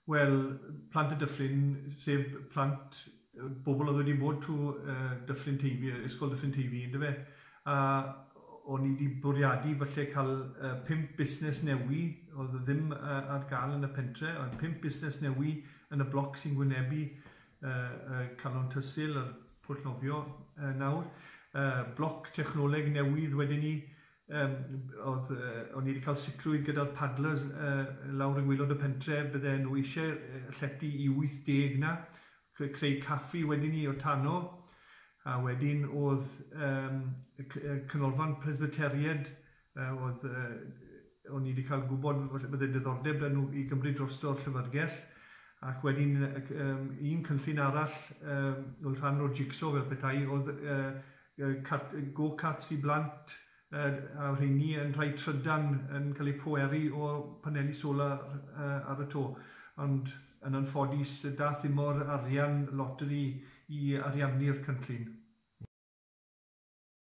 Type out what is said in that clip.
Wel, plant y dyffryn, sef plant bobl oedd wedi bod trwy Dyffryn Teifi, Ysgol Dyffryn Teifi, yndyfe? A o'n i wedi bwriadu falle cael 5 busnes newi, oedd ddim ar gael yn y pentre, ond 5 busnes newi yn y bloc sy'n gwynebu Calon Tysil a'r pwll nofio nawr. Bloc technoleg newydd wedyn ni, oedd, o'n i wedi cael sicrwydd gyda'r paddlers lawr yng ngwaelod y pentre, bydde nhw eisiau llety i 80 na, creu caffi wedyn ni o tano, a wedyn oedd canolfan Presbyteriad, oedd, o'n i wedi cael gwybod bydde diddordeb 'da nhw i gymryd drosto'r llyfrgell, ac wedyn un cynllun arall oedd rhan o'r jigsaw fel petai, oedd go-karts i blant, a rheini yn rhai trydan yn cael eu pweru o paneli solar ar y to. Ond yn anffodus, dath ddim o'r arian loteri i ariannu'r cynllun.